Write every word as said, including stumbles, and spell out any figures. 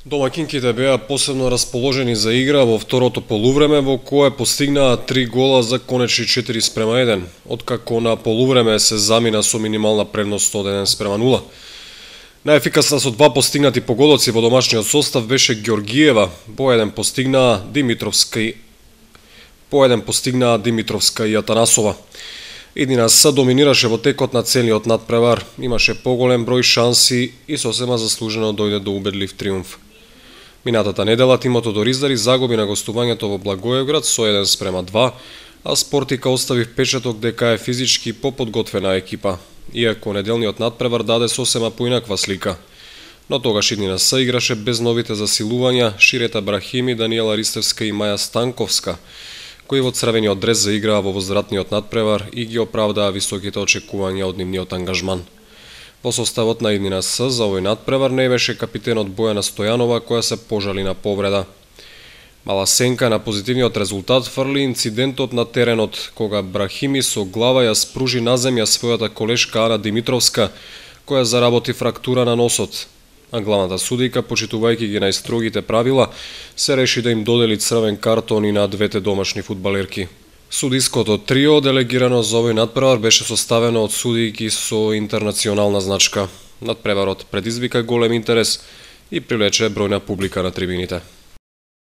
Домаќинките беа посебно расположени за игра во второто полувреме, во кое постигнаа три гола за конечни четири спрема еден, откако на полувреме се замина со минимална предност од еден спрема нула. Најефикасна со два постигнати погодоци во домашниот состав беше Ѓоргиева, по еден постигнаа Димитровска и по еден постигнаа Димитровска и Атанасова. Иднина С доминираше во текот на целиот надпревар, имаше поголем број шанси и сосема заслужено дојде до убедлив триумф. Минатата недела тимот од Ориздари загуби на гостувањето во Благоевград со еден спрема два, а Спортика остави впечаток дека е физички поподготвена екипа, иако неделниот надпревар даде сосема поинаква слика. Но тогаш Иднина С играше без новите засилувања Ширета Брахими, Даниела Ристевска и Маја Станковска, кои во црвениот дрес заиграа во возвратниот надпревар и ги оправдаа високите очекувања од нивниот ангажман. Во составот на Иднина С за овој надпревар не беше капитенот Бојана Стојанова, која се пожали на повреда. Мала сенка на позитивниот резултат фрли инцидентот на теренот, кога Брахими со глава ја спружи на земја својата колешка Ана Димитровска, која заработи фрактура на носот, а главната судијка, почитувајќи ги најстрогите правила, се реши да им додели црвен картон и на двете домашни фудбалерки. Судиското трио, делегирано за овој надпревар, беше составено од судијки со интернационална значка. Надпреварот предизвика голем интерес и привлече бројна публика на трибините.